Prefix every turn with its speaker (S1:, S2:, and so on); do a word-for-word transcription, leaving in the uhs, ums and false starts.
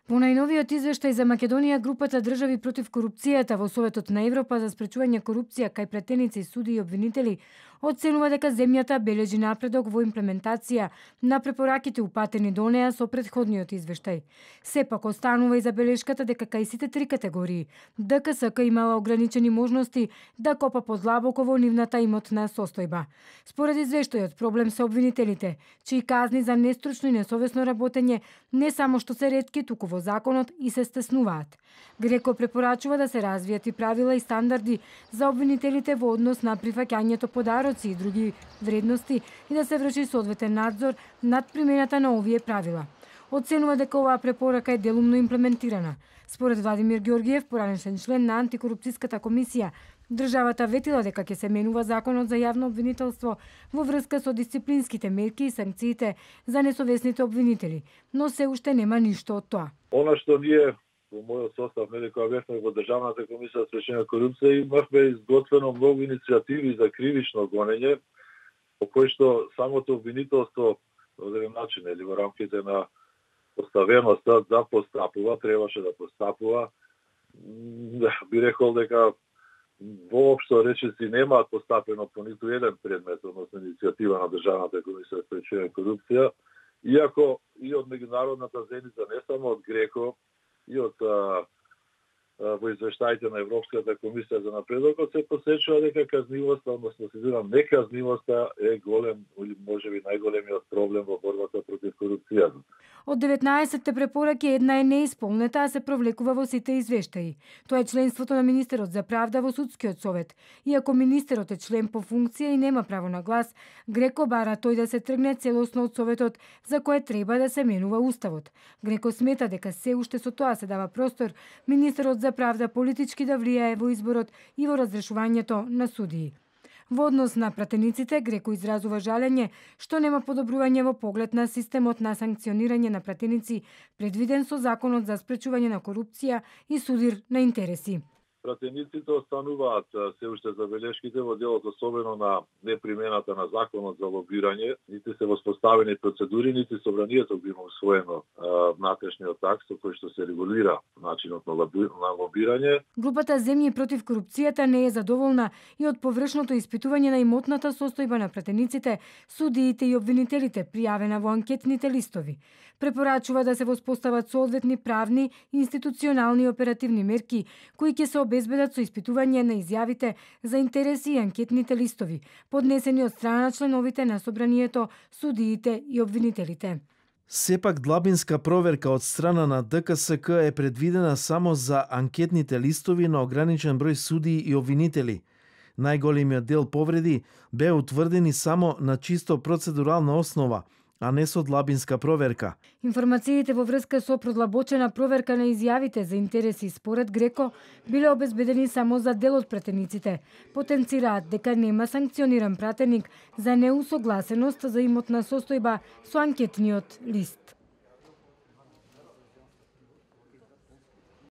S1: По најновиот извештај за Македонија, групата држави против корупцијата во Советот на Европа за спречување корупција кај претеници, суди и обвинители оценува дека земјата бележи напредок во имплементација на препораките упатени до неа со претходниот извештај. Сепак останува и забелешката дека кај сите три категории ДКСК имала ограничени можности да копа подлабоко во нивната имотна состојба. Според извештајот, проблем се обвинителите, чии казни за нестручно и несовесно работење не само што се ретки, туку во законот и се стеснуваат. Греко препорачува да се развијат и правила и стандарди за обвинителите во однос на прифаќањето подароци и други вредности и да се врши соодветен надзор над примената на овие правила. Оценува дека оваа препорака е делумно имплементирана. Според Владимир Ѓорѓиев, поранешен член на антикорупцијската комисија, државата ветила дека ќе се менува законот за јавно обвинителство во врска со дисциплинските мерки и санкциите за несовесните обвинители, но се уште нема ништо од тоа.
S2: Она што ние во мојот состав, нели, кога бевме во Државната комисија за спречување на корупција, имавме изготвено многу иницијативи за кривично гонење, по кои што самото обвинителство во еден начин, или во рамките на поставеноста да постапува, требаше да постапува. Би рекол дека воопшто речиси немаат постапено по ниту еден предмет, односно иницијатива на Државната комисија за спречување на корупција, иако и од меѓународната заедница, не само од Греко, и од а, а, во извештаите на Европската комисија за напредокот се посечува дека казнивоста, односно сезирам, неказнивоста е голем, или можеби најголемиот проблем во борбата против корупцијата.
S1: Од деветнаесетте препораки една е неисполнета, а се провлекува во сите извештаи. Тоа е членството на министерот за правда во судскиот совет. Иако министерот е член по функција и нема право на глас, Греко бара тој да се тргне целосно од советот, за кое треба да се менува уставот. Греко смета дека се уште со тоа се дава простор министерот за правда политички да влијае во изборот и во разрешувањето на судии. Во однос на пратениците, Греко изразува жалење што нема подобрување во поглед на системот на санкционирање на пратеници предвиден со законот за спречување на корупција и судир на интереси.
S2: Пратениците остануваат се уште забелешките во делот, особено на непримената на законот за лобирање, нити се воспоставени процедури, нити собранието би има усвоено внатрешниот акт со кој што се регулира начинот на лобирање.
S1: Групата Земји против корупцијата не е задоволна и од површното испитување на имотната состојба на пратениците, судиите и обвинителите пријавена во анкетните листови. Препорачува да се воспостават соодветни правни, институционални и оперативни мерки кои ќе се обезбедат со испитување на изјавите за интереси и анкетните листови, поднесени од страна на членовите на собранието, судиите и обвинителите.
S3: Сепак длабинска проверка од страна на ДКСК е предвидена само за анкетните листови на ограничен број судии и обвинители. Најголемиот дел повреди бе утврдени само на чисто процедурална основа, а не со длабинска проверка.
S1: Информациите во врска со продлабочена проверка на изјавите за интереси според Греко биле обезбедени само за дел од пратениците. Потенцираат дека нема санкциониран пратеник за неусогласеност за имотна состојба со анкетниот лист.